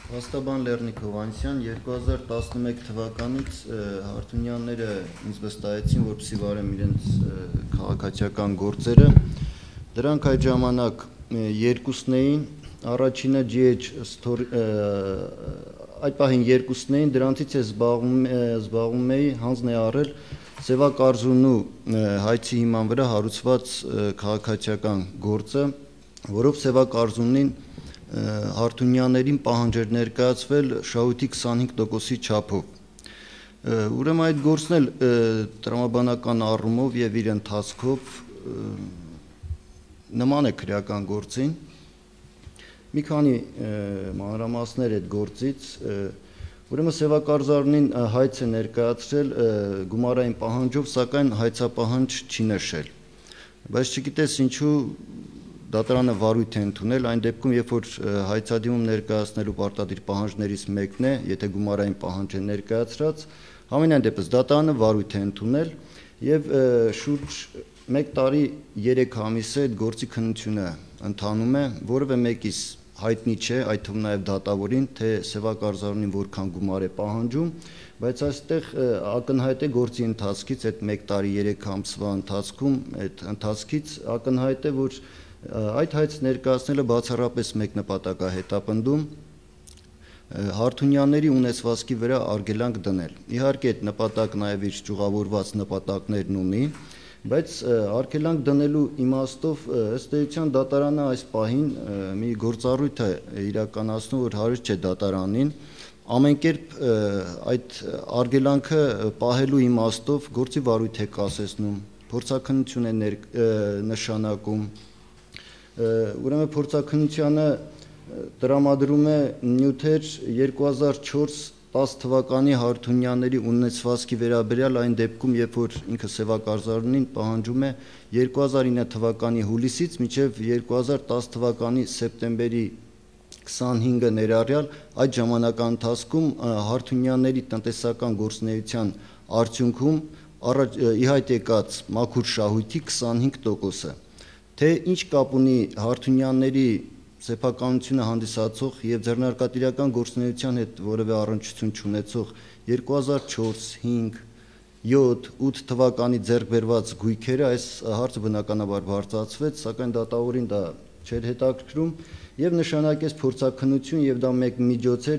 Վաստաբան Լեռնիկ Հովհաննիսյան 2011 թվականից Հարթունյանները ինձ վստահեցին, որպեսզի վարեմ իրենց քաղաքացիական գործերը։ Դրանք այդ ժամանակ երկուսն էին, առաջինը GH Story, այդ պահին երկուսն էին, դրանցից ես զբաղվում էի, հանձն է առել Սևակարզունու հայցի հիման վրա հարուցված քաղաքացիական գործը, որով Սևակարզունին Հարթունյաններին պահանջ էր ներկայացվել շահույթի 25%-ի չափով։ Ուրեմն այդ գործն էլ տրամաբանական առումով եւ իր ընթացքով նման է քրեական գործին։ Մի քանի մանրամասներ այդ գործից, ուրեմն Սևակարզարնին հայց է ներկայացրել գումարային պահանջով, սակայն հայցապահանջ չի նշել։ Բայց չգիտես ինչու դատարանը վարույթ է ընդունել այն դեպքում, երբ որ հայցադիմում ներկայացնելու պարտադիր պահանջներից մեկն է, եթե գումարային պահանջ է ներկայացրած, համենայն դեպս դատարանը վարույթ է ընդունել եւ շուրջ 1 տարի 3 ամիս է այդ գործի քննությունը ընթանում է, որևէ մեկիս հայտնի չէ, այդ թվում նաեւ դատավորին, թե Սևակարզարունին որքան գումար է պահանջում, բայց այստեղ ակնհայտ է գործի ընթացքից այդ 1 տարի 3 ամսվա ընթացքում այդ ընթացքից ակնհայտ է, որ այդ հայց ներկայացնելը բացառապես մեկ նպատակ է հետապնդում Հարթունյանների ունեցվածքի վրա արգելանք դնել։ Իհարկե այդ նպատակն նաև իր ճյուղավորված նպատակներն ունի, բայց արգելանք դնելու իմաստով ըստ էության դատարանը այս պահին մի գործառույթ է իրականացնում, որ հարուստ չէ դատարանին, ամեն կերպ այդ արգելանքը պահելու իմաստով գործի վարույթ է կասեցնում, փորձաքննություն է նշանակում։ Ուրեմն փորձաքննությանը տրամադրում է նյութեր 2004-10 թվականի Հարթունյանների ունեցվածքի վերաբերյալ այն դեպքում, երբ որ ինքը Սևակարզարունին պահանջում է 2009 թվականի հուլիսից մինչև 2010 թվականի սեպտեմբերի 25-ը ներառյալ այդ ժամանակահատվածի ընթացքում Հարթունյանների տնտեսական գործունեության արդյունքում ի հայտ եկած մաքուր շահույթի 25%-ը, թե ինչ կապ ունի Հարթունյանների սեփականությունը հանդիսացող եւ ձեռնարկատիրական գործունեության հետ որևէ առնչություն չունեցող 2004, 5, 7, 8 թվականի ձեռք բերված գույքերը, այս հարցը բնականաբար բարձրացվեց, սակայն դատավորին դա չէր հետաքրքրում եւ նշանակեց փորձաքննություն եւ դա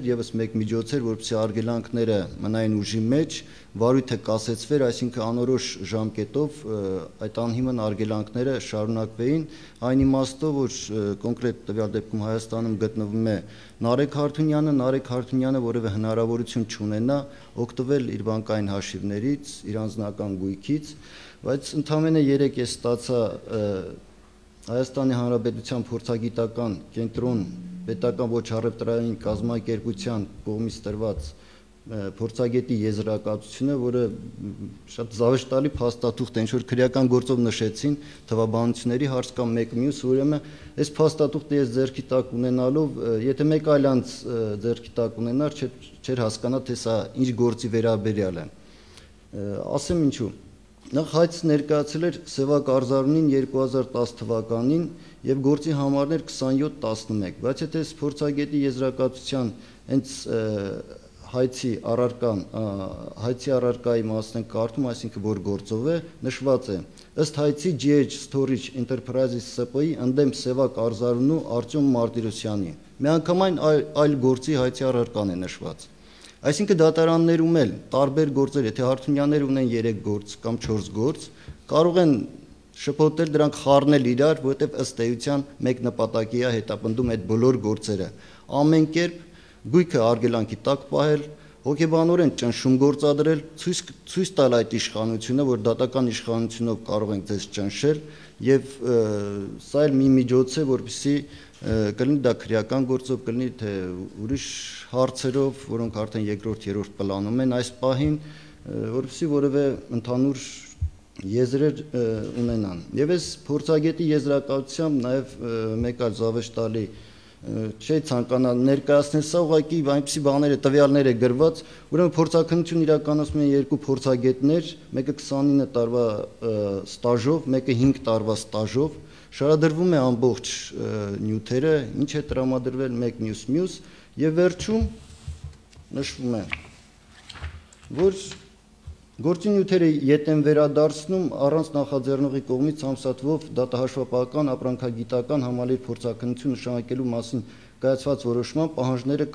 եւս մեկ միջոց էր, որպեսզի արգելանքները մնային ուժի մեջ, վարույթը կասեցվեր, այսինքն անորոշ ժամկետով այդ անհիմն արգելանքները շարունակվեին, այն իմաստով, որ կոնկրետ տվյալ դեպքում Հայաստանում գտնվում է Նարեկ Հարթունյանը որևէ հնարավորություն չունենա օգտվել իր բանկային հաշիվներից, իր անձնական գույքից, բայց ընդամենը 3 ես ստացա Հայաստանի Հանրապետության փորձագիտական կենտրոն պետական ոչ առևտրային կազմակերպության կողմից տրված փորձագետի եզրակացությունը, որը շատ զավեշտալի փաստաթուղթ է, ինչ որ քրեական գործով նշեցին թվաբանությունների հարց կամ մեկ մյուս, ուրեմն այս փաստաթուղթը ես ձեռքի տակ ունենալով, եթե մեկ այլ անձ ձեռքի տակ ունենար, չէր հասկանա, թե սա ինչ գործի վերաբերյալ է։ Ասեմ ինչու։ Նախ հայց ներկայացել էր Սևակարզարունին 2010 թվականին եւ գործի համարներ 27-11, բայց եթե փորձագետի եզրակացության հենց հայցի առարկայի մասն ենք կարդում, այսինքն որ գործով է, նշված է. ըստ հայցի GH Storage Enterprises ՍՊ-ի ընդդեմ Սևակարզարունու Արտյոմ Մարտիրոսյանի։ Միանգամայն այլ գործի հայցի առարկան է նշված։ Այսինքն դատարաններում էլ տարբեր գործեր, եթե Հարթունյանները ունեն 3 գործ կամ 4 գործ, կարող են շփոթել դրանք խառնել իրար, որովհետև ըստ էության մեկ նպատակի է հետապնդում այդ բոլոր գործերը։ Ամեն կերպ գույքը արգելանքի տակ պահել, հոգեբանորեն ճնշում գործադրել, ցույց տալ այդ իշխանությունը, որ դատական իշխանությունով կարող ենք ձեզ ճնշել, եւ սա էլ մի միջոց է, որպեսզի կլինի դա քրեական գործով, կլինի թե ուրիշ հարցերով, որոնք արդեն երկրորդ, երրորդ պլանում են այս պահին, որպեսզի որևէ ընդհանուր եզրեր ունենան։ Եվ այս փորձագետի եզրակացությամբ նաեւ մեկ այլ զավեշտալի չի ցանկանա ներկայացնել, սա ուղղակի այնպիսի բաներ է, տվյալներ է գրված, ուրեմն փորձաքննություն իրականացնում են երկու փորձագետներ, մեկը 29 տարվա ստաժով, մեկը 5 տարվա ստաժով, շարադրվում է ամբողջ նյութերը, ինչ է տրամադրվել մեկ մյուս եւ վերջում նշվում է, որ գործի նյութերը ետ են վերադարձնում առանց նախաձեռնողի կողմից ամսաթվով դատահաշվապահական ապրանքագիտական համալիր փորձաքննություն նշանակելու մասին կայացված որոշման պահանջները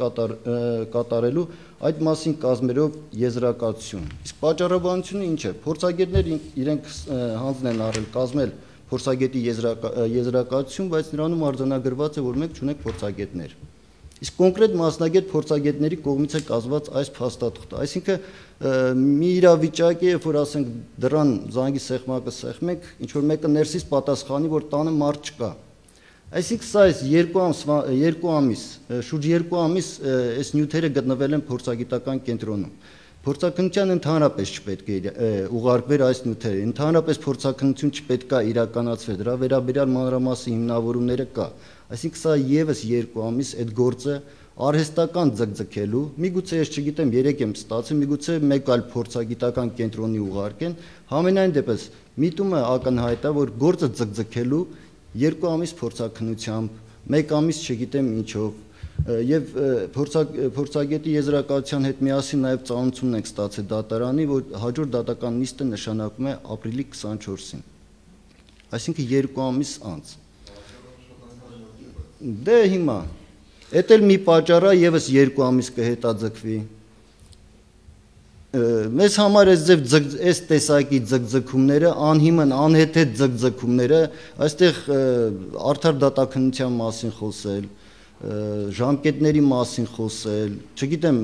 կատարելու այդ մասին կազմերով եզրակացություն։ Իսկ պատճառաբանությունը ինչ է։ Փորձագետները իրենք հանձն են առել կազմել փորձագետի եզրակացություն, բայց նրանում արձանագրված է, որ մենք չունենք փորձագետներ։ Իսկ կոնկրետ մասնագետ փորձագետների կողմից է կազմված այս փաստաթղթը։ Այսինքն մի իրավիճակ է, երբ որ ասենք դրան զանգի սեղմակը սեղմենք, ինչ որ մեկը ներսից պատասխանի, որ տանը մարդ չկա։ Այսինքն սա այս շուրջ 2 ամիս այս նյութերը գտնվել են փորձագիտական կենտրոնում։ Փորձաքննության ընդհանրապես չպետք է ուղարկվեր այս նյութերը, ընդհանրապես փորձաքննություն չպետք է իրականացվեր, դրա վերաբերյալ մանրամասն հիմնավորումները կա։ Այսինքն սա եւս 2 ամիս այդ գործը արհեստական ձգձգելու, միգուցե ես չգիտեմ 3 եմ ստացել, միգուցե մեկ այլ փորձագիտական կենտրոնի ուղարկեն, համենայն դեպս միտումը ակնհայտ է, որ գործը ձգձգելու 2 ամիս փորձաքննությամբ, 1 ամիս չգիտեմ ինչով, եւ փորձագետի եզրակացության հետ միասին նաեւ ծանոթություն ենք ստացել դատարանի, որ հաջորդ դատական նիստը նշանակվում է ապրիլի 24-ին։ Այսինքն 2 ամիս անց։ Դե հիմա Էդ էլ մի պատճառ է եւս 2 ամիս կհետաձգվի։ Մեզ համար այս տեսակի ձգձգումները, անհիմն, անհեթեթ ձգձգումները, այստեղ արդար դատաքննության մասին խոսել, ժամկետների մասին խոսել, չգիտեմ,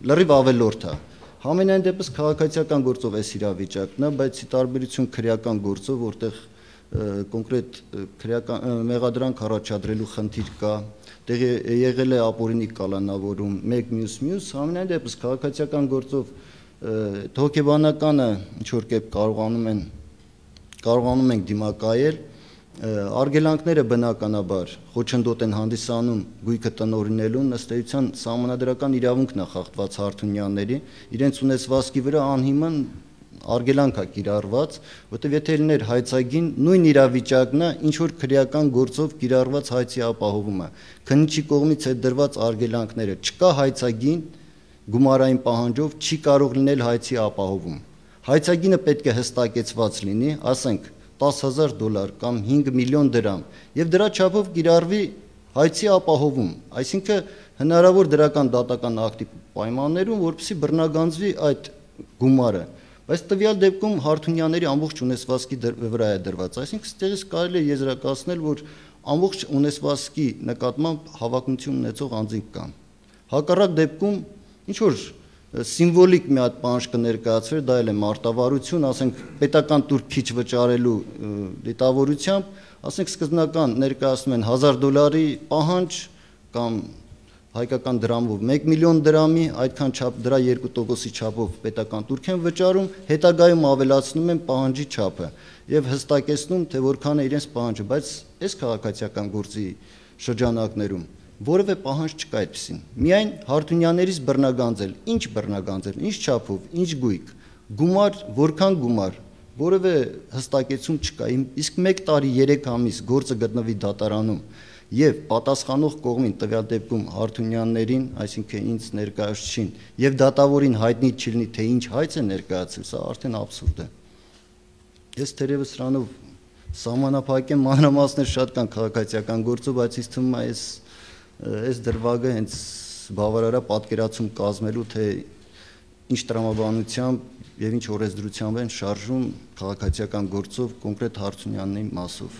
լրիվ ավելորդ է։ Համենայն դեպս քաղաքացիական գործով էս իրավիճակն է, բայց ի տարբերություն քրեական գործով, որտեղ կոնկրետ մեղադրանք առաջադրելու խնդիր կա, դեղ եղել է ապօրինի կալանավորում, մեկ մյուս, համենայն դեպս քաղաքացիական գործով հոգեբանականը ինչ որ կերպ կարողանում ենք դիմակայել, արգելանքները բնականաբար խոչընդոտ են հանդիսանում գույքը տնօրինելուն, ըստ էության սահմանադրական իրավունքն է խախտված Հարթունյանների, իրենց ունեցվածքի վրա անհիմն արգելանք է կիրառված, որտեղ եթե լիներ հայցագին, նույն իրավիճակն է, ինչ որ քրեական գործով կիրառված հայցի ապահովումը, քննիչի կողմից այդ դրված արգելանքները, չկա հայցագին գումարային պահանջով չի կարող լինել հայցի ապահովում։ Հայցագինը պետք է հստակեցված լինի, ասենք $10,000 կամ 5 միլիոն դրամ, եւ դրա չափով կիրառվի հայցի ապահովում, այսինքն հնարավոր դրական դատական ակտի պայմաններում, որպեսզի բռնագանձվի այդ գումարը, բայց տվյալ դեպքում Հարթունյանների ամբողջ ունեցվածքի վրա է դրված, այսինքն ստեղից կարելի է եզրակացնել, որ ամբողջ ունեցվածքի նկատմամբ հավակնություն ունեցող անձինք կան։ Հակառակ դեպքում ինչ որ սիմվոլիկ մի հատ պահանջ կներկայացվեր, դա էլ է մարտավարություն, ասենք պետական տուրք քիչ վճարելու դիտավորությամբ, ասենք սկզբնական ներկայացնում են $1,000 պահանջ կամ հայկական դրամով 1 միլիոն դրամի, այդքան չափ դրա 2%-ի չափով պետական տուրք են վճարում, հետագայում ավելացնում են պահանջի չափը եւ հստակեցնում, թե որքան է իրենց պահանջը, բայց այս քաղաքացիական գործի շրջանակներում որևէ պահանջ չկա այդպեսին։ Միայն Հարթունյաններից բռնագանձել, ինչ չափով, ինչ գույք, գումար, որքան գումար, որևէ հստակեցում չկա։ Իսկ 1 տարի 3 ամիս գործը գտնվի դատարանում եւ պատասխանող կողմին տվյալ դեպքում Հարթունյաններին, այսինքն ինձ ներկայացուցին, եւ դատավորին հայտնի չլինի, թե ինչ հայց է ներկայացել, սա արդեն աբսուրդ է։ Ես թերևս սրանով սահմանափակեմ, մանրամասներ շատ կան քաղաքացիական գործով, բայց ինձ թվում է այս դրվագը հենց բավարար է պատկերացում կազմելու, թե ինչ տրամաբանությամբ եւ ինչ օրենսդրությամբ են շարժում քաղաքացիական գործով կոնկրետ Հարթունյանների մասով։